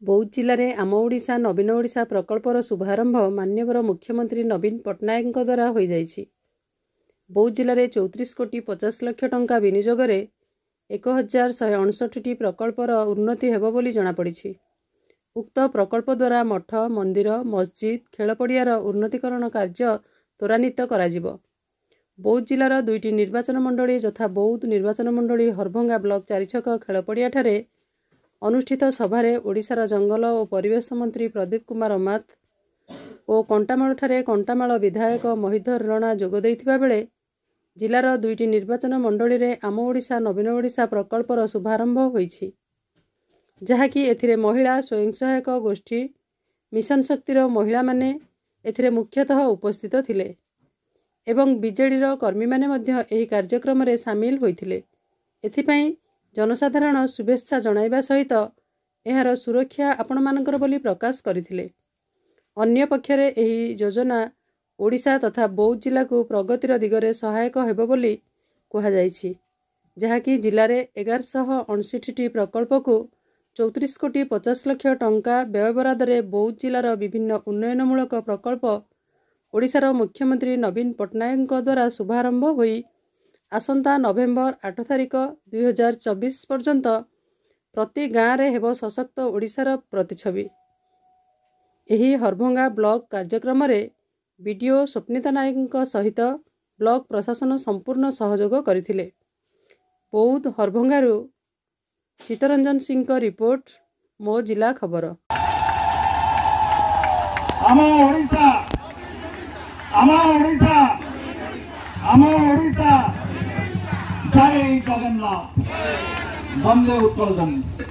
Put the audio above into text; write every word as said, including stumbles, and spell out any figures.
ବୌଦ୍ଧ ଜିଲ୍ଲାରେ ଆମ ଓଡ଼ିଶା ନବୀନ ଓଡ଼ିଶା ପ୍ରକଳ୍ପର ଶୁଭାରମ୍ଭ ମାନ୍ୟବର ମୁଖ୍ୟମନ୍ତ୍ରୀ ନବୀନ ପଟ୍ଟନାୟକଙ୍କ ଦ୍ୱାରା ହୋଇଯାଇଛି। ବୌଦ୍ଧ ଜିଲ୍ଲାରେ ଚଉତିରିଶ କୋଟି ପଚାଶ ଲକ୍ଷ ଟଙ୍କା ବିନିଯୋଗରେ ଏକ ହଜାର ଶହେ ଅଣଷଠିଟି ପ୍ରକଳ୍ପର ଉନ୍ନତି ହେବ ବୋଲି ଜଣାପଡ଼ିଛି। ଉକ୍ତ ପ୍ରକଳ୍ପ ଦ୍ୱାରା ମଠ, ମନ୍ଦିର, ମସଜିଦ୍, ଖେଳପଡ଼ିଆର ଉନ୍ନତିକରଣ କାର୍ଯ୍ୟ ତ୍ୱରାନ୍ୱିତ କରାଯିବ। ବୌଦ୍ଧ ଜିଲ୍ଲାର ଦୁଇଟି ନିର୍ବାଚନ ମଣ୍ଡଳୀ ଯଥା ବୌଦ୍ଧ ନିର୍ବାଚନ ମଣ୍ଡଳୀ ହରଭଙ୍ଗା ବ୍ଲକ ଚାରିଛକ ଖେଳପଡ଼ିଆଠାରେ ଅନୁଷ୍ଠିତ ସଭାରେ ଓଡ଼ିଶାର ଜଙ୍ଗଲ ଓ ପରିବେଶ ମନ୍ତ୍ରୀ ପ୍ରଦୀପ କୁମାର ଅମାତ ଓ କଣ୍ଟାମାଳଠାରେ କଣ୍ଟାମାଳ ବିଧାୟକ ମହୀଧର ରଣା ଯୋଗ ଦେଇଥିବା ବେଳେ ଜିଲ୍ଲାର ଦୁଇଟି ନିର୍ବାଚନ ମଣ୍ଡଳୀରେ ଆମ ଓଡ଼ିଶା ନବୀନ ଓଡ଼ିଶା ପ୍ରକଳ୍ପର ଶୁଭାରମ୍ଭ ହୋଇଛି, ଯାହାକି ଏଥିରେ ମହିଳା ସ୍ୱୟଂ ସହାୟକ ଗୋଷ୍ଠୀ, ମିଶନ ଶକ୍ତିର ମହିଳାମାନେ ଏଥିରେ ମୁଖ୍ୟତଃ ଉପସ୍ଥିତ ଥିଲେ ଏବଂ ବିଜେଡ଼ିର କର୍ମୀମାନେ ମଧ୍ୟ ଏହି କାର୍ଯ୍ୟକ୍ରମରେ ସାମିଲ ହୋଇଥିଲେ। ଏଥିପାଇଁ ଜନସାଧାରଣ ଶୁଭେଚ୍ଛା ଜଣାଇବା ସହିତ ଏହାର ସୁରକ୍ଷା ଆପଣମାନଙ୍କର ବୋଲି ପ୍ରକାଶ କରିଥିଲେ। ଅନ୍ୟପକ୍ଷରେ ଏହି ଯୋଜନା ଓଡ଼ିଶା ତଥା ବୌଦ୍ଧ ଜିଲ୍ଲାକୁ ପ୍ରଗତିର ଦିଗରେ ସହାୟକ ହେବ ବୋଲି କୁହାଯାଇଛି, ଯାହାକି ଜିଲ୍ଲାରେ ଏଗାରଶହ ଅଣଷଠିଟି ପ୍ରକଳ୍ପକୁ ଚଉତିରିଶ କୋଟି ପଚାଶ ଲକ୍ଷ ଟଙ୍କା ବ୍ୟୟବରାଦରେ ବୌଦ୍ଧ ଜିଲ୍ଲାର ବିଭିନ୍ନ ଉନ୍ନୟନମୂଳକ ପ୍ରକଳ୍ପ ଓଡ଼ିଶାର ମୁଖ୍ୟମନ୍ତ୍ରୀ ନବୀନ ପଟ୍ଟନାୟକଙ୍କ ଦ୍ୱାରା ଶୁଭାରମ୍ଭ ହୋଇ ଆସନ୍ତା ନଭେମ୍ବର ଆଠ ତାରିଖ ଦୁଇହଜାର ଚବିଶ ପର୍ଯ୍ୟନ୍ତ ପ୍ରତି ଗାଁରେ ହେବ ସଶକ୍ତ ଓଡ଼ିଶାର ପ୍ରତିଛବି। ଏହି ହରଭଙ୍ଗା ବ୍ଲକ କାର୍ଯ୍ୟକ୍ରମରେ ବିଡିଓ ସ୍ୱପ୍ନିତା ନାୟକଙ୍କ ସହିତ ବ୍ଲକ ପ୍ରଶାସନ ସମ୍ପୂର୍ଣ୍ଣ ସହଯୋଗ କରିଥିଲେ। ବୌଦ୍ଧ ହରଭଙ୍ଗାରୁ ଚିତ୍ତରଞ୍ଜନ ସିଂଙ୍କ ରିପୋର୍ଟ, ମୋ ଜିଲ୍ଲା ଖବର। ଆମ ଓଡ଼ିଶା, ଆମ ଓଡ଼ିଶା, ଆମ ଓଡ଼ିଶା। ଜୟ ଜଗନ୍ନାଥ, ବନ୍ଦେ ଉତ୍କଳ ଜନନୀ।